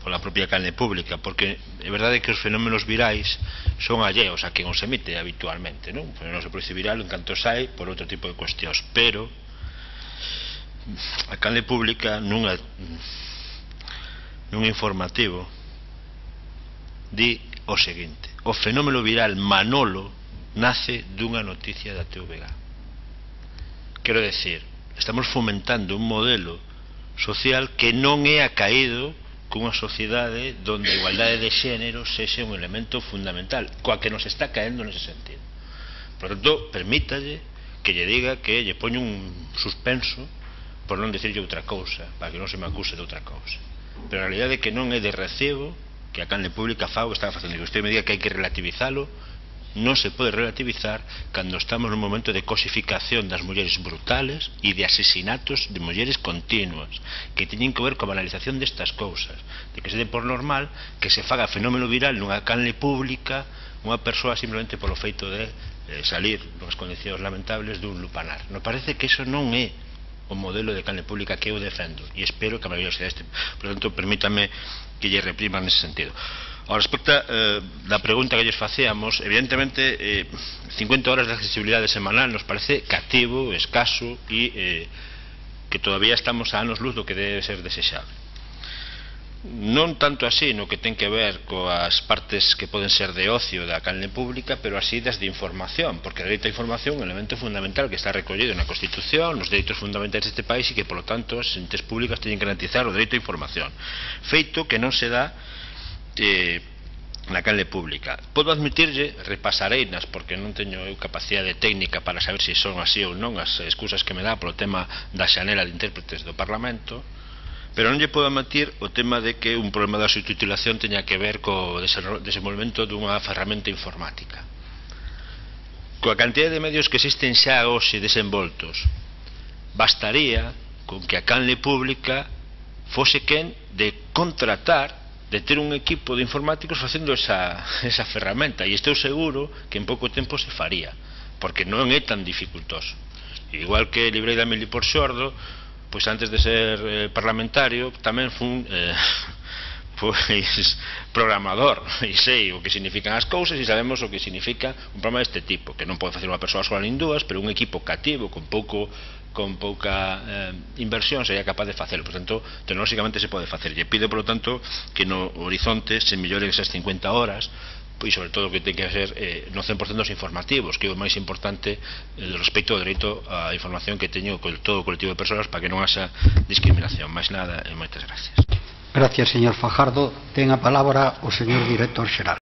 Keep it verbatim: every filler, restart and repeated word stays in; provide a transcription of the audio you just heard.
pola propia canle pública, porque é verdade que os fenómenos virais son alleos a quen os emite habitualmente, non? Non se produce viral en canto sai por outro tipo de cuestións, pero a canle pública nunha nun informativo di o seguinte: o fenómeno viral Manolo nace dunha noticia da T V G. Quero decir, estamos fomentando un modelo social que non é acaído cunha sociedade onde a igualdade de xénero sexe un elemento fundamental, coa que nos está caendo nese sentido. Por tanto, permítalle que lle diga que lle poño un suspenso por non dicirlle outra cousa, para que non se me acuse de outra cousa. Pero a realidade é que non é de recibo que a canle pública fago está facendo, que usted me diga que hai que relativizalo. Non se pode relativizar cando estamos nun momento de cosificación das mulleres brutales e de asesinatos de mulleres continuas, que teñen que ver coa banalización destas cousas, de que se dé por normal que se faga fenómeno viral nunha canle pública unha persoa simplemente polo feito de eh, salir nas condicións lamentables dun lupanar. Me parece que iso non é o modelo de canle pública que eu defendo, e espero que a maioría sea este. Por tanto, permítame que lle reprima nese sentido. Ao respecto eh, da pregunta que lles facíamos, evidentemente eh, cincuenta horas de accesibilidade semanal nos parece cativo, escaso e eh, que todavía estamos a anos luz do que debe ser desexable. Non tanto así no que ten que ver coas partes que poden ser de ocio da canle pública, pero así das de información, porque o dereito a información é un elemento fundamental que está recollido na Constitución, nos dereitos fundamentais deste país, e que, polo tanto, as entes públicas teñen que garantizar o dereito a información, feito que non se dá Eh, na canle pública. Podo admitirlle, repasareinas, porque non teño eu capacidade técnica para saber se son así ou non as excusas que me dá polo tema da xanela de intérpretes do Parlamento, pero non lle podo admitir o tema de que un problema da subtitulación teña que ver co desenvolvemento dunha ferramenta informática. Coa cantidad de medios que existen xa hoxe desenvoltos, bastaría con que a canle pública fose quen de contratar, de ter un equipo de informáticos facendo esa, esa ferramenta, e estou seguro que en pouco tempo se faría, porque non é tan dificultoso. Igual que librei da mili por xordo, pois antes de ser eh, parlamentario tamén fun eh, pois programador, e sei o que significan as cousas, e sabemos o que significa un programa deste tipo, que non pode facer unha persoa sola nin dúas, pero un equipo cativo con pouco con pouca eh, inversión sería capaz de facelo. Por tanto, tecnolóxicamente se pode facer. E pido, por lo tanto, que no horizonte se melloren esas cincuenta horas, e sobre todo que ten que ser eh, no cen por cento dos informativos, que é o máis importante eh, respecto ao dereito á información que teño con todo o colectivo de persoas, para que non haxa discriminación. Mais nada, e moitas gracias. Gracias, señor Fajardo. Ten a palabra o señor director xeral.